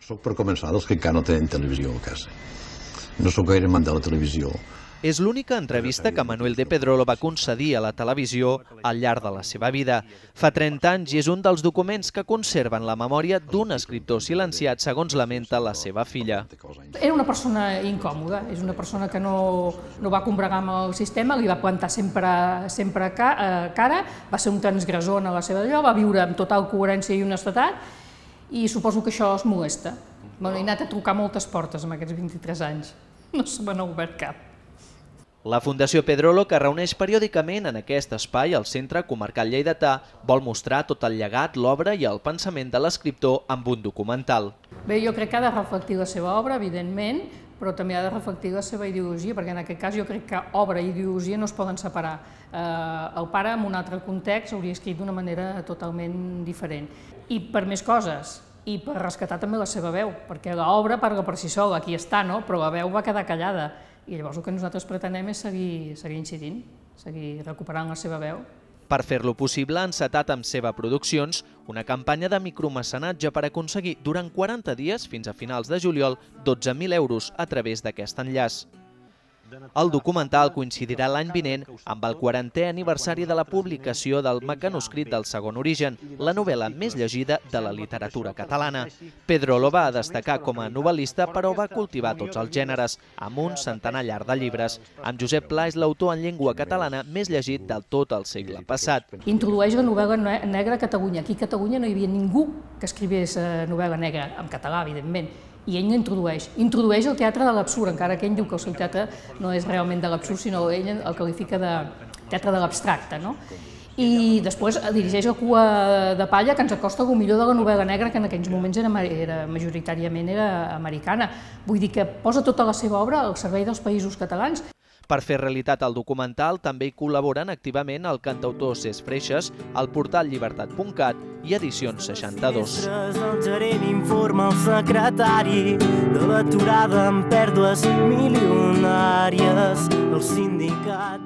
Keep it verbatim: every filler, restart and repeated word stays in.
Soc per començar dels que encara no tenen televisió a casa. No sóc gaire amant de la televisió. És l'única entrevista que Manuel de Pedrolo va concedir a la televisió al llarg de la seva vida. Fa trenta anys i és un dels documents que conserven la memòria d'un escriptor silenciat, segons lamenta la seva filla. Era una persona incòmoda, és una persona que no, no va combregar amb el sistema, li va plantar sempre, sempre cara, va ser un transgressor en la seva allò, va viure amb total coherència i honestedat i suposo que això es molesta. M'he anat a trucar moltes portes en aquests vint-i-tres anys, no se me n'ha obert cap. La Fundació Pedrolo, que reuneix periòdicament en aquest espai al Centre Comarcal Lleidatà, vol mostrar tot el llegat, l'obra i el pensament de l'escriptor amb un documental. Bé, jo crec que ha de reflectir la seva obra, evidentment, però també ha de reflectir la seva ideologia, perquè en aquest cas jo crec que obra i ideologia no es poden separar. El pare, en un altre context, hauria escrit d'una manera totalment diferent. I per més coses, i per rescatar també la seva veu, perquè l'obra parla per si sola, aquí està, no? Però la veu va quedar callada. I llavors el que nosaltres pretenem és seguir, seguir incidint, seguir recuperant la seva veu. Per fer-lo possible, ha encetat amb Seva Produccions una campanya de micromecenatge per aconseguir durant quaranta dies, fins a finals de juliol, dotze mil euros a través d'aquest enllaç. El documental coincidirà l'any vinent amb el quarantè aniversari de la publicació del mecanoscrit del Segon Origen, la novel·la més llegida de la literatura catalana. Pedrolo va destacar com a novel·lista, però va cultivar tots els gèneres, amb un centenar llarg de llibres. Amb Josep Pla és l'autor en llengua catalana més llegit del tot el segle passat. Introdueix la novel·la negra a Catalunya. Aquí a Catalunya no hi havia ningú que escrivés novel·la negra, en català, evidentment. I ell l'introdueix. Introdueix el teatre de l'absurd, encara que ell diu que el seu teatre no és realment de l'absurd, sinó ell el qualifica de teatre de l'abstracte. I després dirigeix la Cua de palla, que ens acosta el millor de la novel·la negra, que en aquells moments era majoritàriament era americana. Vull dir que posa tota la seva obra al servei dels països catalans. Per fer realitat el documental també hi col·laboren activament el cantautor Cesc Freixes, el portal llibertat punt cat i Edicions seixanta-dos. El gerent informa el secretari de l'aturada amb pèrdues milionàries. El sindicat